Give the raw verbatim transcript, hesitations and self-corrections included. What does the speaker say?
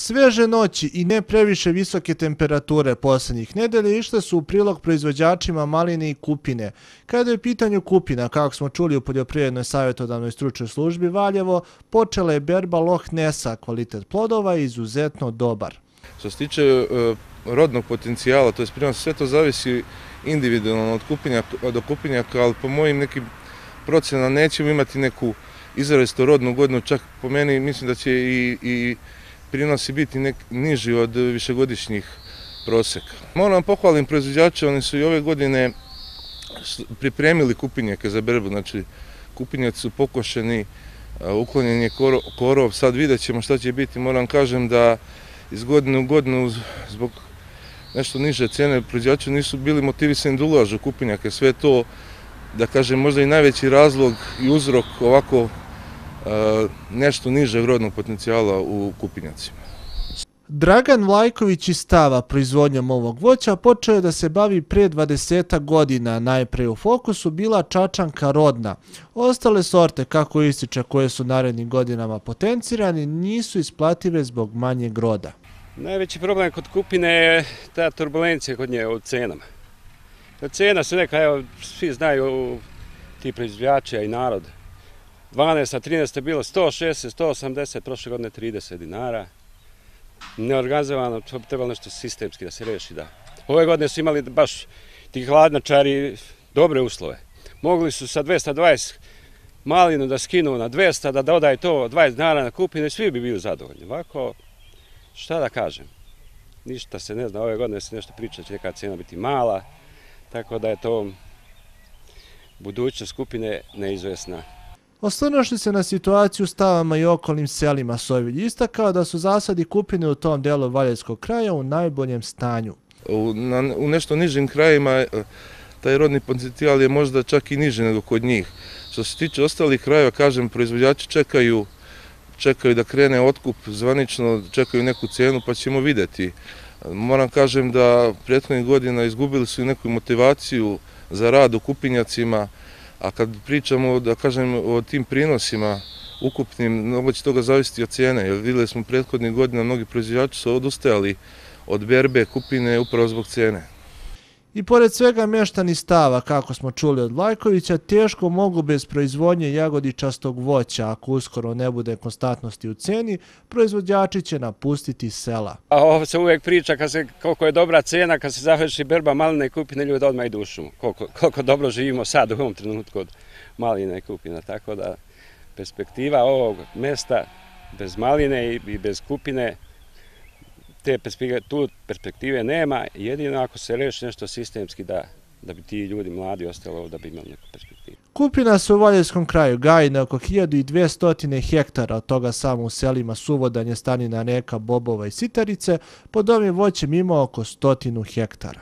Sveže noći i ne previše visoke temperature posljednjih nedelja išle su u prilog proizvođačima maline i kupine. Kada je u pitanju kupina, kako smo čuli u Poljoprivrednoj savjetodavnoj stručnoj službi Valjevo, počela je berba Loch Nessa, kvalitet plodova je izuzetno dobar. Što se tiče uh, rodnog potencijala, to je prinos, sve to zavisi individualno od kupinjaka, od kupinjaka, ali po mojim nekim procenama nećemo imati neku izrazito rodnu godinu, čak po meni mislim da će i, i prinosi biti nek, niži od višegodišnjih proseka. Moram pohvalim proizvođače, oni su i ove godine pripremili kupinjake za berbu, znači kupinjaci su pokošeni, uklonjen je korov, sad vidjet ćemo šta će biti. Moram kažem da iz godine u godinu zbog nešto niže cene proizvođači nisu bili motivisani da ulažu kupinjake, sve to, da kažem, možda i najveći razlog i uzrok ovako nešto nižeg rodnog potencijala u kupinjacima. Dragan Vlajković iz Stava proizvodnjom ovog voća počeo je da se bavi prije dvadesetak godina. Najpre u fokusu bila čačanka rodna. Ostale sorte, kako ističe, koje su narednim godinama potencirani, nisu isplative zbog manjeg roda. Najveći problem kod kupine je ta turbulencija kod nje u cenama. Cena se neka, evo, svi znaju, ti proizvođači i narod. dvanaest trinaest je bilo sto šezdeset, sto osamdeset, prošle godine trideset dinara. Neorganizovano, to bi trebalo nešto sistemski da se reši. Da. Ove godine su imali baš ti hladnjačari dobre uslove. Mogli su sa dvesta dvadeset malinu da skinu na dvesta, da dodaju to dvadeset dinara na kupinu i svi bi bili zadovoljni. Ovako, šta da kažem, ništa se ne zna, ove godine se nešto priča, će neka cena biti mala, tako da je to budućnost skupine neizvesna. Osvrnuši se na situaciju u Stavama i okolnim selima, Sovilj istakao da su zasadi kupine u tom delu Valjevskog kraja u najboljem stanju. U, na, u nešto nižim krajima taj rodni potencijal je možda čak i niži nego kod njih. Što se tiče ostalih krajeva, kažem, proizvođači čekaju, čekaju da krene otkup zvanično, čekaju neku cenu pa ćemo vidjeti. Moram kažem da prethodnih godina izgubili su i neku motivaciju za rad u kupinjacima, a kad pričamo, da kažem, o tim prinosima ukupnim, mnogo će toga zavisiti od cene, jer vidjeli smo prethodnih godina, mnogi proizvođači su odustajali od berbe kupine upravo zbog cene. I pored svega meštani Stava, kako smo čuli od Vlajkovića, teško mogu bez proizvodnje jagodičastog voća. Ako uskoro ne bude konstantnosti u ceni, proizvođači će napustiti sela. A ovo se uvijek priča kad se, koliko je dobra cena, kad se završi berba maline i kupine, ljudi odmah idu u šumu. Koliko, koliko dobro živimo sad u ovom trenutku od maline i kupina. Tako da perspektiva ovog mesta bez maline i bez kupine, te perspektive, tu perspektive nema, jedino ako se reši nešto sistemski da, da bi ti ljudi mladi ostali ovdje, da bi imali neku perspektivu. Kupina se u Valjevskom kraju gaji na oko hiljadu dvesta hektara, od toga samo u selima Suvodanje, Stanina, Reka, Bobova i Sitarice, pod ovim voćem ima oko stotinu hektara.